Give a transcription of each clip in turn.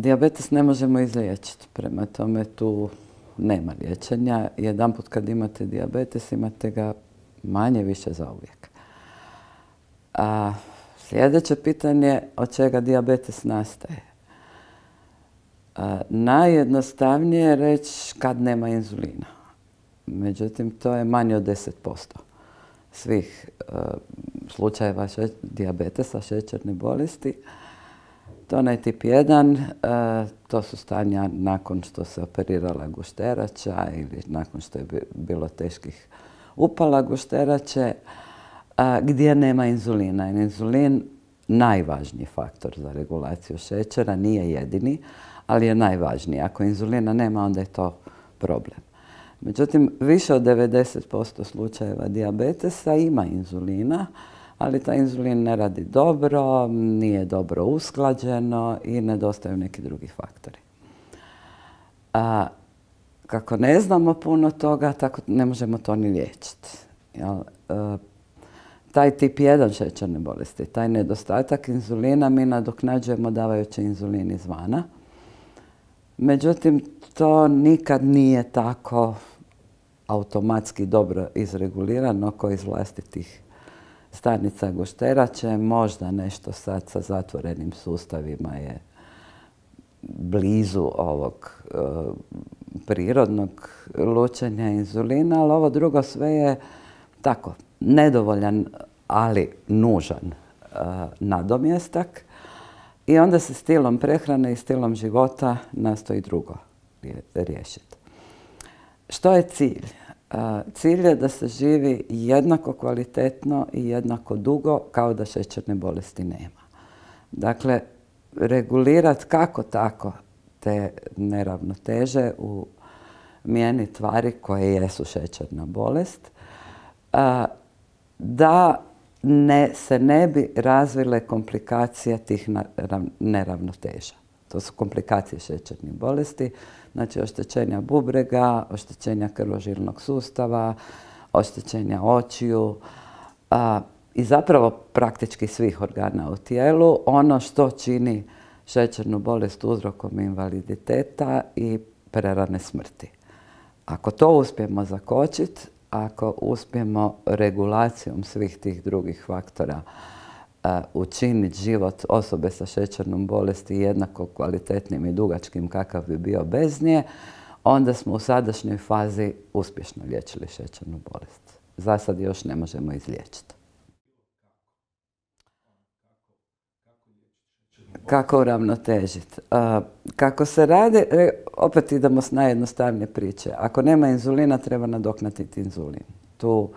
Dijabetes ne možemo izliječiti, prema tome tu nema liječenja. Jedanput kad imate dijabetes, imate ga manje više zauvijek. A sljedeće pitanje, od čega dijabetes nastaje? Najjednostavnije je reći kad nema inzulina. Međutim, to je manje od 10% svih slučajeva dijabetesa, šećerne bolesti. To onaj tip 1, to su stanja nakon što se operirala gušterača ili nakon što je bilo teških upala gušterače, gdje nema inzulina. Inzulin najvažniji faktor za regulaciju šećera, nije jedini, ali je najvažniji. Ako inzulina nema, onda je to problem. Međutim, više od 90% slučajeva dijabetesa ima inzulina, ali taj inzulin ne radi dobro, nije dobro usklađeno i nedostaju neki drugi faktori. Kako ne znamo puno toga, tako ne možemo to ni liječiti. Taj tip 1 šećerne bolesti, taj nedostatak inzulina mi nadoknađujemo davajući inzulin izvana. Međutim, to nikad nije tako automatski dobro izregulirano kao iz vlastitih stanica gušterače. Možda nešto sad sa zatvorenim sustavima je blizu ovog prirodnog lučenja inzulina, ali ovo drugo sve je tako nedovoljan, ali nužan nadomjestak. I onda se stilom prehrane i stilom života nastoji drugo riješiti. Što je cilj? Cilj je da se živi jednako kvalitetno i jednako dugo kao da šećerne bolesti nema. Dakle, regulirati kako tako te neravnoteže u mijeni tvari koje jesu šećerna bolest, da se ne bi razvile komplikacije tih neravnoteža. To su komplikacije šećernih bolesti, znači oštećenja bubrega, oštećenja krvožilnog sustava, oštećenja očiju i zapravo praktički svih organa u tijelu. Ono što čini šećernu bolest uzrokom invaliditeta i prerane smrti. Ako to uspijemo zakočiti, ako uspijemo regulacijom svih tih drugih faktora učiniti život osobe sa šećernom bolesti jednako kvalitetnim i dugačkim kakav bi bio bez nje, onda smo u sadašnjoj fazi uspješno liječili šećernu bolest. Za sad još ne možemo izliječiti. Kako uravnotežiti? Kako se radi, opet idemo s najjednostavnije priče. Ako nema inzulina, treba nadoknaditi inzulin. Tu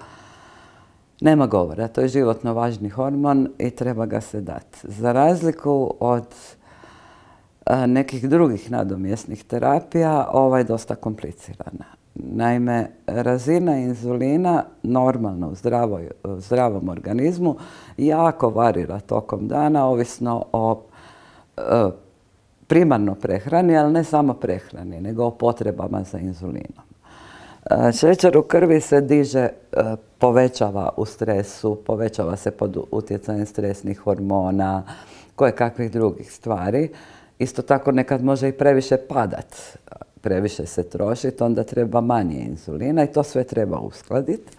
nema govora, to je životno važni hormon i treba ga se dati. Za razliku od nekih drugih nadomjesnih terapija, ova je dosta komplicirana. Naime, razina inzulina normalno u zdravom organizmu jako varira tokom dana, ovisno o primarno prehrani, ali ne samo prehrani, nego o potrebama za inzulinom. Šećer u krvi se diže, povećava u stresu, povećava se pod utjecajem stresnih hormona, kojekakvih drugih stvari. Isto tako nekad može i previše padat, previše se trošiti, onda treba manje inzulina i to sve treba uskladiti.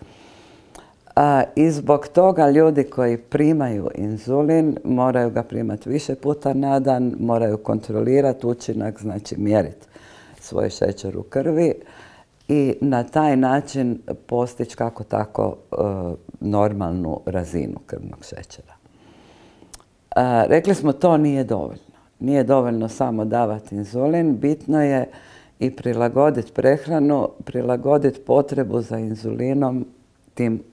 I zbog toga ljudi koji primaju inzulin moraju ga primati više puta na dan, moraju kontrolirati učinak, znači mjeriti svoj šećer u krvi i na taj način postići kako tako normalnu razinu krvnog šećera. Rekli smo to nije dovoljno. Nije dovoljno samo davati inzulin, bitno je i prilagoditi prehranu, prilagoditi potrebu za inzulinom tim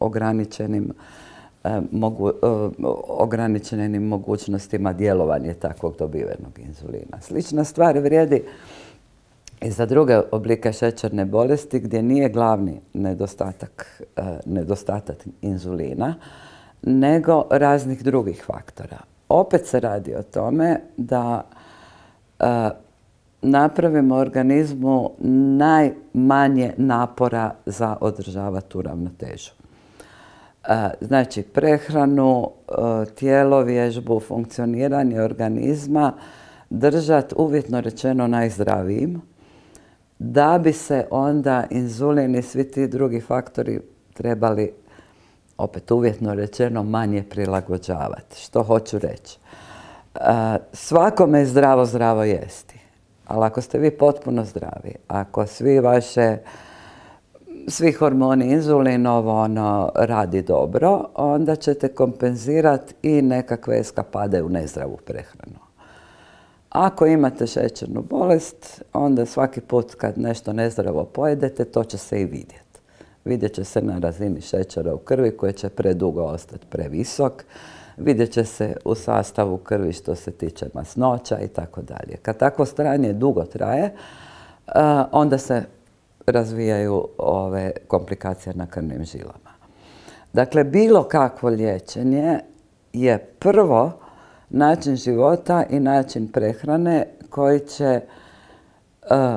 ograničenim mogućnostima djelovanja takvog dobivenog inzulina. Slična stvar vrijedi i za druge oblike šećerne bolesti gdje nije glavni nedostatak inzulina, nego raznih drugih faktora. Opet se radi o tome da napravimo organizmu najmanje napora za održavati tu ravnotežu. Znači, prehranu, tjelovježbu, funkcioniranje organizma držati uvjetno rečeno najzdravijim, da bi se onda inzulin i svi ti drugi faktori trebali, opet uvjetno rečeno, manje prilagođavati. Što hoću reći? Svakome je zdravo jesti. Ali ako ste vi potpuno zdravi, ako svi hormoni, inzulin, radi dobro, onda ćete kompenzirati i nekakve eskapade u nezdravu prehranu. Ako imate šećernu bolest, onda svaki put kad nešto nezdravo pojedete, to će se i vidjeti. Vidjet će se na razini šećera u krvi koji će predugo ostati previsok. Vidjet će se u sastavu krvi što se tiče masnoća i tako dalje. Kad takvo stanje dugo traje, onda se razvijaju ove komplikacije na krvnim žilama. Dakle, bilo kakvo liječenje je prvo način života i način prehrane koji će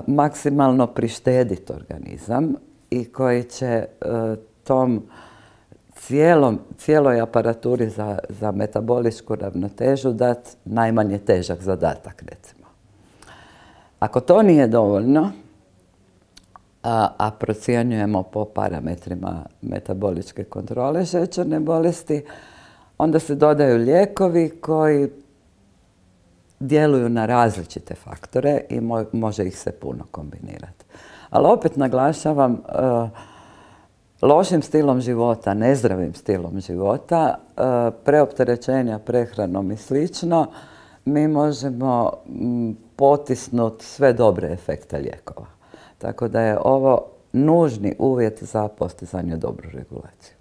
maksimalno prištediti organizam i koji će tom cijeloj aparaturi za metaboličku ravnotežu dati najmanje težak zadatak, recimo. Ako to nije dovoljno, a procjenjujemo po parametrima metaboličke kontrole šećerne bolesti, onda se dodaju lijekovi koji djeluju na različite faktore i može ih se puno kombinirati. Ali opet naglašavam, lošim stilom života, nezdravim stilom života, preopterećenja prehranom i slično, mi možemo potisnuti sve dobre efekte lijekova. Tako da je ovo nužni uvjet za postizanje dobru regulaciju.